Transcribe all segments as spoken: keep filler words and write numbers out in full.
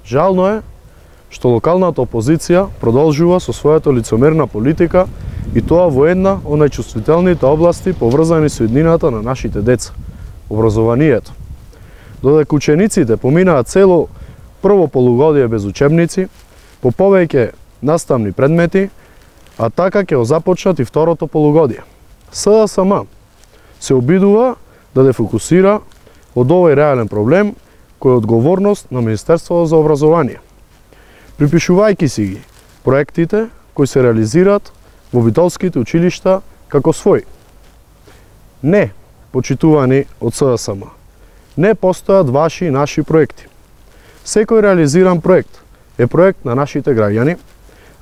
Жално е што локалната опозиција продолжува со својата лицемерна политика и тоа во една од најчувствителните области поврзани со иднината на нашите деца – образованието. Додека учениците поминаат цело прво полугодие без учебници, по повеќе наставни предмети, а така ќе започнат и второто полугодие. СДСМ се обидува да дефокусира од овој реален проблем кој е одговорност на Министерството за образование, припишувајќи си ги проектите кои се реализираат во битолските училишта како свој. Не, почитувани од СДСМ, не постојат ваши и наши проекти. Секој реализиран проект е проект на нашите граѓани,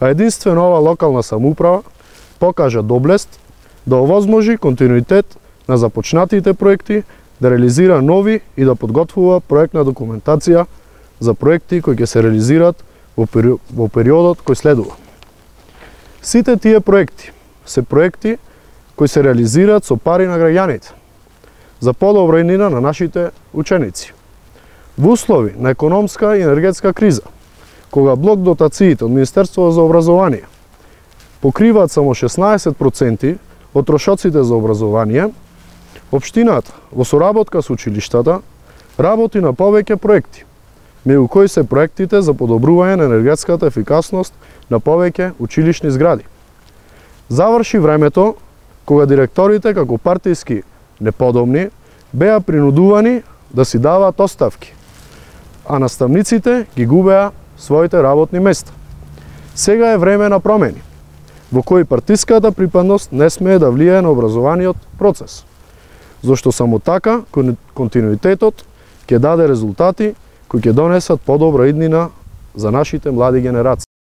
а единствено ова локална самоуправа покажа доблест да овозможи континуитет на започнатите проекти, да реализира нови и да подготвува проектна документација за проекти кои ќе се реализираат во, пери... во периодот кој следува. Сите тие проекти се проекти кои се реализираат со пари на граѓаните, за подобра иднина на нашите ученици. Во услови на економска и енергетска криза, кога блок дотациите од Министерството за образование покриваат само шеснаесет проценти од трошоците за образование, општината во соработка со училиштата работи на повеќе проекти, меѓу кои се проектите за подобрување на енергетската ефикасност на повеќе училишни згради. Заврши времето кога директорите како партиски неподобни беа принудувани да си даваат оставки, а наставниците ги губеа своите работни места. Сега е време на промени, во кои партиската припадност не смее да влијае на образованиот процес, зашто само така континуитетот ќе даде резултати кои ќе донесат подобра иднина за нашите млади генерации.